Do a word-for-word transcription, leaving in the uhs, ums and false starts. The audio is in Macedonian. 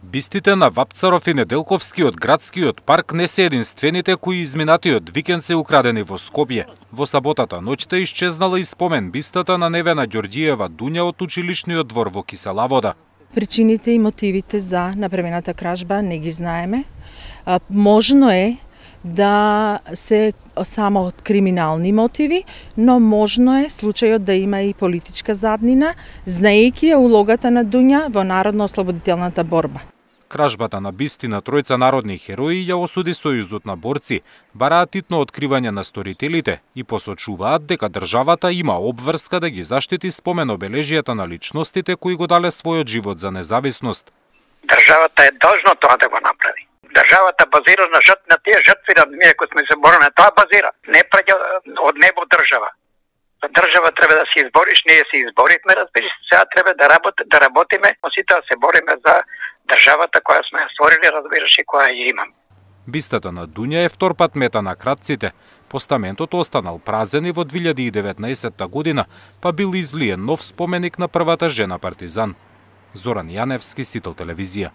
Бистите на Вапцаров и Неделковскиот градскиот парк не се единствените кои изминатиот викенд се украдени во Скопје. Во саботата ноќта исчезнала и спомен бистата на Невена Ѓорѓиева Дуња од училишниот двор во Кисела Вода. Причините и мотивите за направената кражба не ги знаеме. Можно е да се само од криминални мотиви, но можно е случајот да има и политичка заднина, знаејќи ја улогата на Дуња во народно-ослободителната борба. Кражбата на бисти на тројца народни херои ја осуди Сојузот на борци, бараат титно откривање на сторителите и посочуваат дека државата има обврска да ги заштити спомен обележијата на личностите кои го дале својот живот за независност. Државата е должна тоа да го направи. Државата базира на жртви, на тие жртви на ние кои сме се борени, тоа базира. Не праќа од небо држава. За држава треба да се избориш, ние се изборихме, разбираш, сега треба да работи, да работиме, сите да се бориме за државата која сме створили, разбираш, и која ја имам. Бистата на Дуња е втор пат мета на кратците. Постаментот останал празен и во две илјади и деветнаесетта година, па бил излиен нов споменик на првата жена партизан. Зоран Јаневски, Сител телевизија.